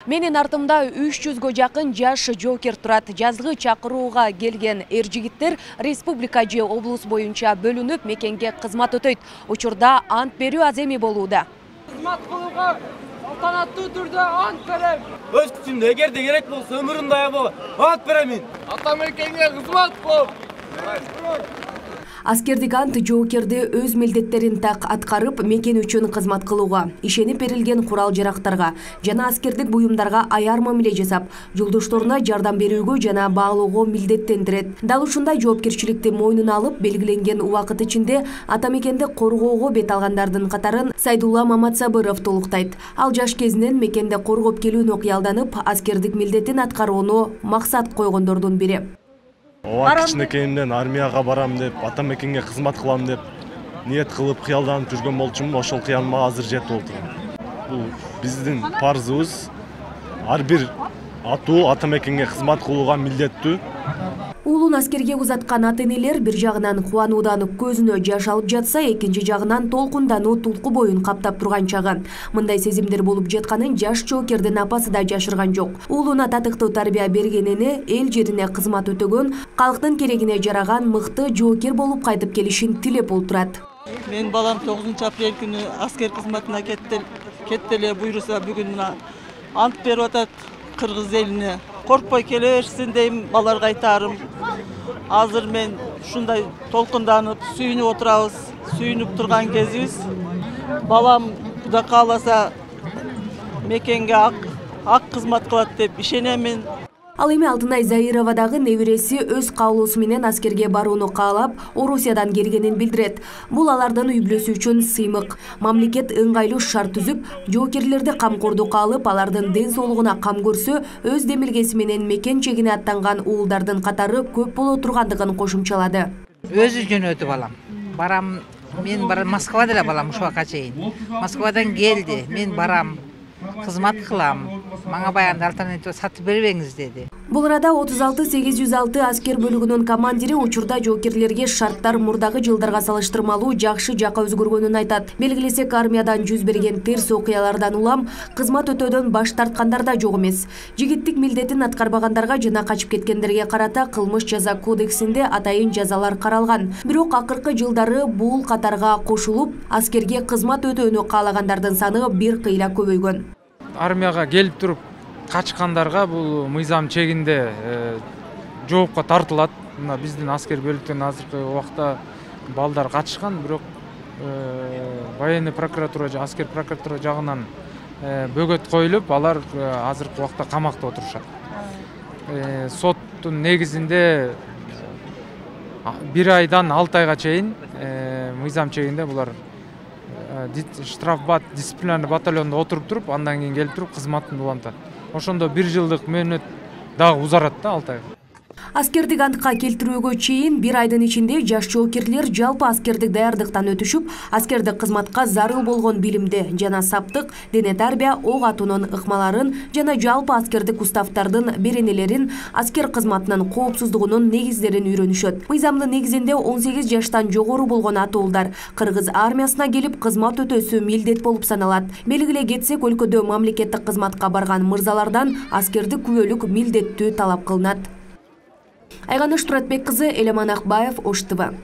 Менин артымда 300гө жакын жаш жоокер турат. Жазгы чакырууга келген эр-жигиттер республика же облус боюнча бөлүнүп мекенге кызмат өтөйт. Учурда ант берүү аземи болууда. Кызмат кылууга салтанаттуу түрдө ант берем. Өз күчүмдө эгерде керек болсо өмүрүмдү аябай ант беремин. Ата мекенге кызмат кылып. Аскердик ант жоокерди өз милдеттерин так аткарып, мекен үчүн кызмат кылууга, ишенип берилген курал-жарактарга жана аскердик буюмдарга аяр мамиле жасап, жолдошторуна жардам берүүгө жана баалоого милдеттендирет. Дал ушундай жоопкерчиликти мойнуна алып, белгиленген убакыт ичинде ата мекенди коргоого бет алгандардын катарын Сайдулла Маматсабыров толуктайт. Ал жаш кезинен мекенде коргоп келүүнү кыялданып, аскердик милдетин аткарууну максат койгондордун бири. Кичинекейимден армияга барам деп, ата мекенге кызмат кылам деп ниет кылып кыялданып жүргөн болчумун. Ошол кыялыма азыр жетип отурам. Бул биздин парзыбыз. Ар бир атуу ата мекенге кызмат кылууга милдеттүү. Уулун аскерге узаткан ата-энелер бир жагынан кубануудан көзүнө жаш алып жатса, экинчи жагынан толкундануу тулку боюн каптап турган чагы. Мындай сезимдер болуп жатканын жаш жоокердин апасы да жашырган жок. Уулуна татыктуу тарбия бергенини, эл жерине кызмат өтөгөн, калктын керегине жараган мыкты жоокер болуп кайтып келишин тилеп отурат. Мен балам 9-апрель күнү аскер кызматына кетти эле буйруса, бүгүн ант берип атат кыргыз элине. Коркпой келе берсин дейм, баларга айтарым. Азыр мен ушундай толкунданып, сүйүнүп отурабыз, сүйүнүп турган кезибиз. Балам Кудай кааласа мекенге ак кызмат кылат деп ишенемин. Ал эми Алтынай Заирова дагы небереси өз каалоосу менен аскерге барууну каалап, Орусиядан келгенин билдирет. Бул алардын үй бүлөсү үчүн сыймык. Мамлекет ыңгайлуу шарт түзүп, жоокерлерди камкордукка алып, алардын ден соолугуна кам көрсө, өз демилгеси менен мекен чегине аттанган уулдардын катары көп боло тургандыгын кошумчалады. Өзү жөнөдү балам. Барам, мен Москвада эле балам ушул убакка чейин. Москвадан келди, мен барам. Кызмат кылам. Мага баягы альтернатива сатып бербеңиз деди. Бул арада 36-806 аскер бөлүгүнүн командири учурда жоокерлерге шарттар мурдагы жылдарга салыштырмалуу жакшы жакка өзгөргөнүн айтат. Белгилесек, армиядан жүз берген терс окуялардан улам кызмат өтөөдөн баш тарткандар да жок эмес. Жигиттик милдетин аткарбагандарга жана качып кеткендерге карата кылмыш жаза кодексинде атайын жазалар каралган. Бирок акыркы жылдары бул катарга кошулуп, аскерге кызмат өтөөнү каалагандардын саны бир кыйла көбөйгөн. Армияга келип туруп качкандарга бул мыйзам чегинде жоопко тартылат. Мына биздин аскер бөлүктөн азыркы убакта балдар качышкан, бирок военный прокуратура же аскер прокуратура жагынан бөгөт коюлуп, алар азыркы убакта камакта отурушат. Соттун негизинде 1 айдан 6 айга чейин мыйзам чегинде булар штрафбат дисциплинарный батальонда отуруп туруп, андан кийин келип туруп кызматын улантат. Ошондо 1 жылдык мөөнөт дагы узарат да 6 айга. Аскердик антка келтирүүгө чейин 1 айдын ичинде жаш жоокерлер жалпы аскердик даярдыктан өтүшүп, аскердик кызматка зарыл болгон билимди жана саптык, дене тарбия, ок атуунун ыкмаларын жана жалпы аскердик уставтардын беренелерин, аскер кызматынын коопсуздугунун негиздерин үйрөнүшөт. Мыйзамдын негизинде 18 жаштан жогору болгон атуулдар кыргыз армиясына келип кызмат өтөөсү милдет болуп саналат. Белгилей кетсек, өлкөдө мамлекеттик кызматка барган мырзалардан аскердик күбөлүк милдеттүү талап кылынат. Айганыш Туратбек кызы, Элеман Акбаев, Ош ТВ.